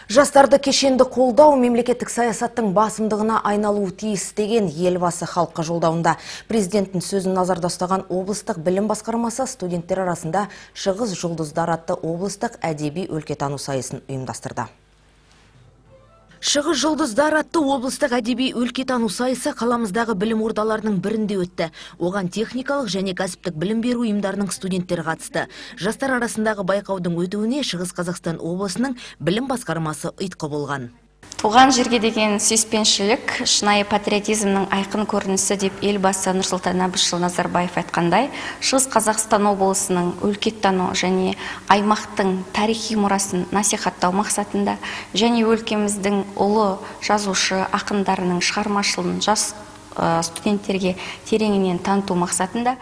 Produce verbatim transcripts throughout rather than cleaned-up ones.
Жастарды кешенді қолдау мемлекеттік саясаттың басымдығына айналуы тиіс деген елбасы халыққа жолдауында. Президенттің сөзін назарда ұстаған облыстық білім басқармасы студенттер арасында Шығыс жұлдыздар атты облыстық әдеби өлкетану сайысын ұйымдастырды. Шығыс жұлдыздар атты облыстық әдеби өлкетану сайысы қаламыздағы білім ордаларының бірінде өтті. Оған техникалық және кәсіптік білім беру ұйымдарының студенттері қатысты. Жастар арасындағы байқаудың өтуіне Шығыс Қазақстан облысының білім басқармасы ұйытқы болған. Туған жерге деген сүйіспеншілік, шынайы патриотизмнің айқын көрінісі деп елбасы Нұрсұлтан Әбішұлы Назарбаев айтқандай, Шығыс Қазақстан облысының өлкеттану және аймақтың тарихи мұрасын насихаттау мақсатында және өлкеміздің ұлы жазушы ақындарының шығармашылығын жас студенттерге тереңінен таныту мақсатында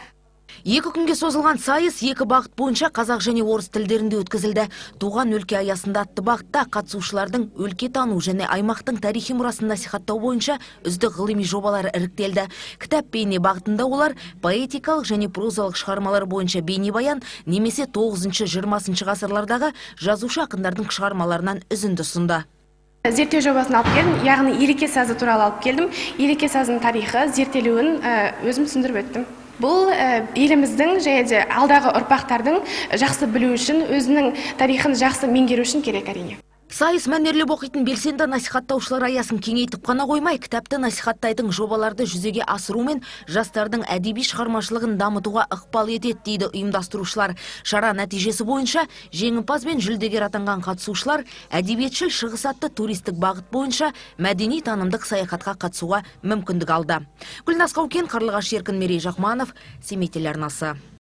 Екі күнге созылған сайыс екі бағыт бойынша қазақ және орыс тілдерінде өткізілді. Туған өлке аясында атты бағытта қатысушылардың өлкетану және аймақтың тарихи мұрасын насихаттау бойынша үздік ғылыми жобалары іріктелді. Кітап бейне бағытында олар поэтикалық және прозалық шығармалар бойынша бейнебаян немесе тоғызыншы жиырмасыншы ғасырлардағы жазушы ақындардың шығармаларынан үзінді ұсынды. Зерттеу жобасын алып келдім, яғни елеке сазы туралы алып келдім. Елеке сазының тарихы, зерттелуін өзім түсіндіріп өттім. Бұл еліміздің және де алдағы ұрпақтардың жақсы білу үшін, өзінің тарихын жақсы меңгеру үшін керек әрине. Сайыс мәнерлеп оқитын белсенді насихаттаушылар аясын кеңейтіп қана қоймай, кітапты насихаттайтын жобаларды жүзеге асырумен жастардың әдеби шығармашылығын дамытуға ықпал етеді дейді ұйымдастырушылар. Шара нәтижесі бойынша жеңімпаз бен жүлдегер атанған қатысушылар әдебиетшіл Шығыс атты туристік бағыт бойынша мәдени танымдық саяхатқа қатысуға мүмкіндік алды. Гүлназ Қаукен, Қарлығаш Еркін, Мерей Жақманов, Семей телеарнасы.